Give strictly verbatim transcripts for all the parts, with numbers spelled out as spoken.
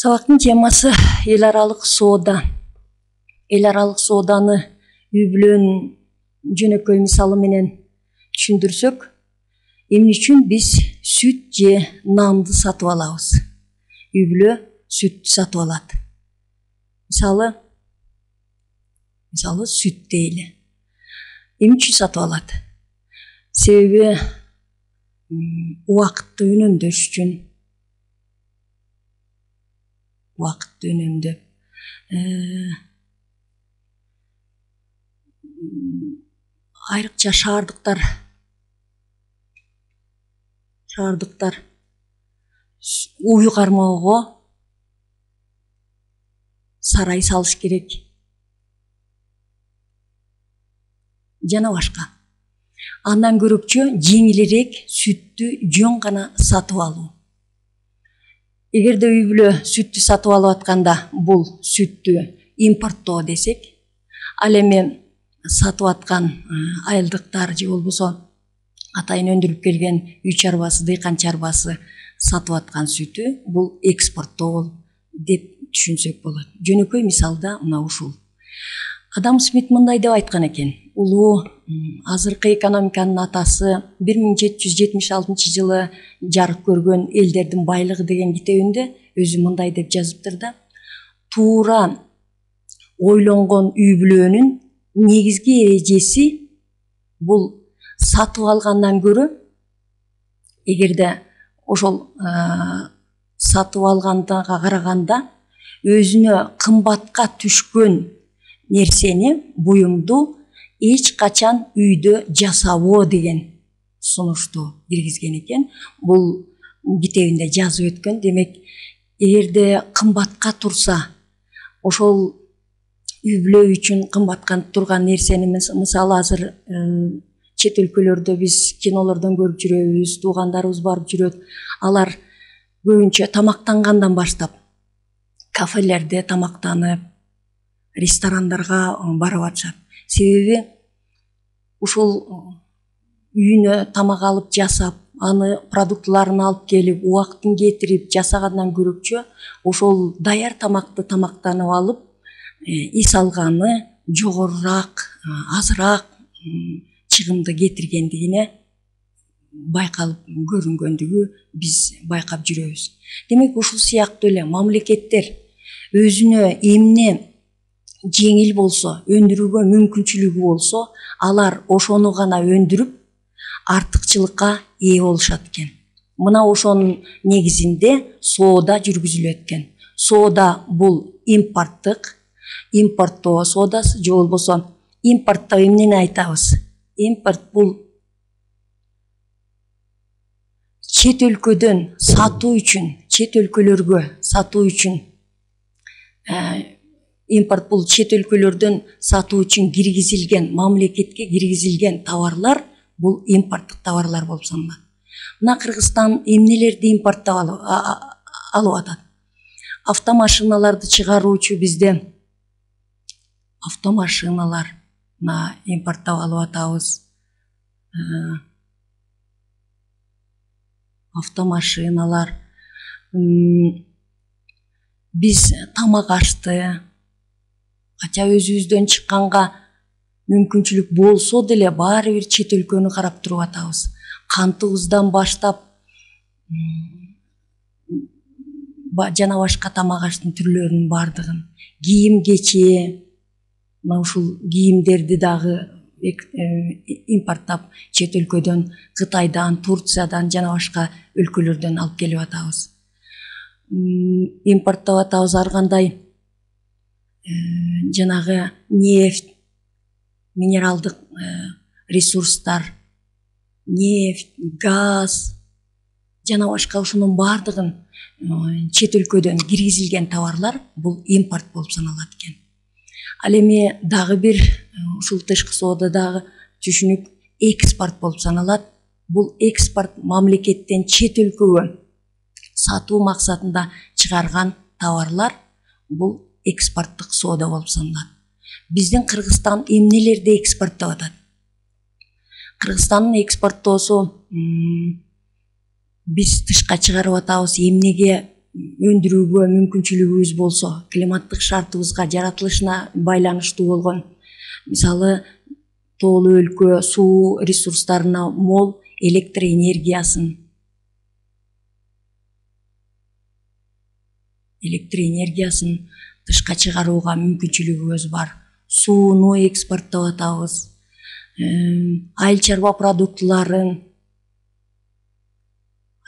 Сабактын темасы эл аралык соода. Эл аралык сооданы үй-бүлөнүн жөнөкөй мисалы менен түшүндүрсөк, эмне үчүн биз сүт же нанды сатып алабыз? Үй-бүлө сүттү сатып алат. Мисалы, мисалы сүт дейли. Эмне үчүн сатып алат? Себеби убакытты үнөмдөш үчүн. Убакытты үнөмдөп, айрыкча шаардыктар шаардыктар үй кармоого сарай салыш керек. Жана башка. Андан көрөкчө жеңилирээк сүттү жөн гана сатып алуу. Эгерде үй-бүлө сүттү сатып алып атканда, бул сүттү импорттоо десек, ал эми сатып аткан айылдыктар же болбосо атайын өндүрүп келген үй чарбасы, дыйкан чарбасы сатып аткан сүтү бул экспорттоо деп түшүнсөк болот. Жөнөкөй мисалда мына ушул. Адам Смит мындай деп айткан экен: улуу азыркы экономиканын атасы бир миң жети жүз жетимиш алтынчы жылы жарык көргөн элдердин байлыгы деген китебинде өзү мындай деп жазыптыр да: туура ойлонгон үй-бүлөнүн негизги эрежеси бул сатып алгандан көрө, эгерде ошол сатып алганга караганда өзүнө кымбатка түшкөн нерсени, буюмду эч качан үйдө жасабоо деген сунушту киргизген экен. Бул китебинде жазып өткөн. Демек, эгерде кымбатка турса, ошол үй-бүлө үчүн кымбатка турган нерсени, мисалы азыр чет өлкөлөрдө биз кинолордон көрүп жүрөбүз, туугандарыбыз барып жүрөт. Алар көбүнчө тамактангандан баштап кафелерде тамактанып, ресторандарга барып атышат. Себеби ушул үйүнө тамак алып жасап, аны продуктларын алып келип, убактын кетирип жасагандан көрөкчө ошол даяр тамакты тамактанып алып, эс алганы жогорураак, азыраак чыгымды кетиргендигине байкалып көрүнгөндүгү биз байкап жүрөбүз. Демек, ушул сыяктуу эле мамлекеттер өзүнө эмне жеңил болсо, өндүрүүгө мүмкүнчүлүгү болсо, алар ошону гана өндүрүп, артыкчылыкка ээ болушат экен. Мына ошонун негизинде соода жүргүзүлөт экен. Соода бул импорттук, импорттоо соодасы же болбосо импорттоо эмнени айтабыз? Импорт бул чет өлкөдөн сатуу үчүн, чет өлкөлөргө сатуу үчүн, импорт бул чет өлкөлөрдөн сатуу үчүн киргизилген, мамлекетке киргизилген товарлар, бул импорттук товарлар болуп саналат. Мына Кыргызстан эмнелерди импорттоп алып атат? Автомашиналарды чыгаруучу бизде автомашиналар мына импорттоп алып атабыз. Автомашиналар, биз тамак ашты, ача өзүбүздөн чыкканга мүмкүнчүлүк болсо деле баары бир чет өлкөнү карап туруп атабыз. Кантыбыздан баштап жана башка тамак аштын түрлөрүнүн баардыгын, кийим кечээ, мына ушул кийимдерди дагы импорттоп чет өлкөдөн, Кытайдан, Турциядан жана башка өлкөлөрдөн алып келип атабыз. Импорттоп атабыз ар кандай жанагы нефть, минералдык ресурстар, нефть, газ жана башка ушунун баардыгын чет өлкөдөн киргизилген товарлар бул импорт болуп саналат экен. Ал эми дагы бир ушул тышкы соодадагы түшүнүк экспорт болуп саналат. Бул экспорт мамлекеттен чет өлкөгө сатуу максатында чыгарган товарлар, бул экспорттук соода болуп саналат. Биздин Кыргызстан эмнелерди экспорттоп атат? Кыргызстандын экспорттоосу биз тышка чыгарып атабыз. Эмнеге өндүрүүгө мүмкүнчүлүгүбүз болсо, климаттык шартыбызга, жаратылышына байланыштуу болгон, мисалы тоолуу өлкө суу ресурстарына мол электр энергиясын электр энергиясын тышка чыгарууга мүмкүнчүлүгүбүз бар. Сууну экспорттоп атабыз. Айыл чарба продуктыларын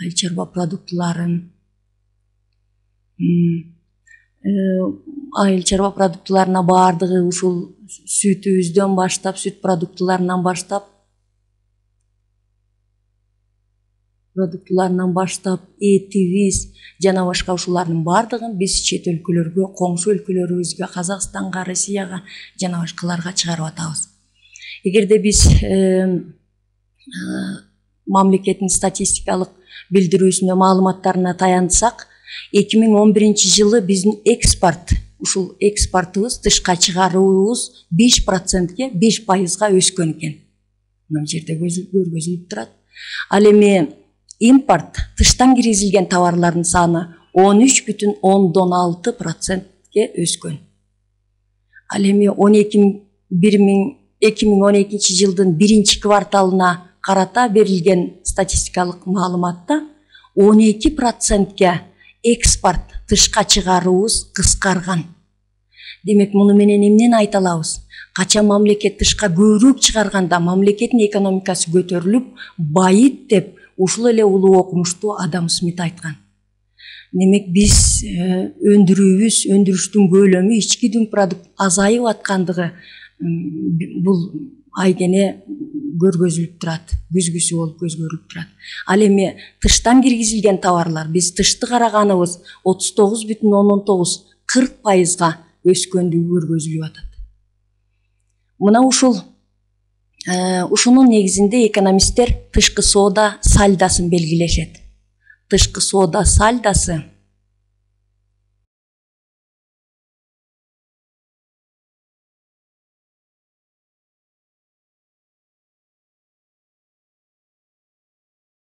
айыл чарба продуктыларын айыл чарба продуктыларына баардыгы ушул сүтүбүздөн баштап, сүт продуктыларынан баштап продуктыларынан баштап этибиз жана башка ушулардын баардыгын биз чет өлкөлөргө, коңшу өлкөлөрүбүзгө, Казакстанга, Россияга жана башкаларга чыгарып атабыз. Эгерде биз мамлекеттин статистикалык билдирүүсүнө, маалыматтарына таянсак, эки миң он биринчи жылы биздин экспорт, ушул экспортубуз, тышка чыгаруубуз беш процентке, беш пайызга өскөн экен. Мына жерде көргөзүлүп турат. Ал эми импорт, тыштан киргизилген товарлардын саны он үч бүтүн ондон алты процентке өскөн. Ал эми эки миң он экинчи жылдын биринчи кварталына карата берилген статистикалык маалыматта он эки процентке экспорт, тышка чыгаруубуз кыскарган. Демек, муну менен эмнени айта алабыз? Качан мамлекет тышка көбүрөөк чыгарганда мамлекеттин экономикасы көтөрүлүп, байыт деп ушул эле улуу окумуштуу Адам Смит айткан. Демек, биз өндүрүүбүз, өндүрүштүн көлөмү, ички дүң продукт азайып аткандыгы бул айгене көргөзүлүп турат, күзгүсү болуп көзгө көрүлүп турат. Ал эми тыштан киргизилген товарлар, биз тышты караганыбыз отуз тогуз бүтүн ондон тогуз, кырк пайызга өскөндүгү көргөзүлүп атат. Мына ушул ушунун негизинде экономисттер тышкы соода сальдосын белгилешет. Тышкы соода сальдосы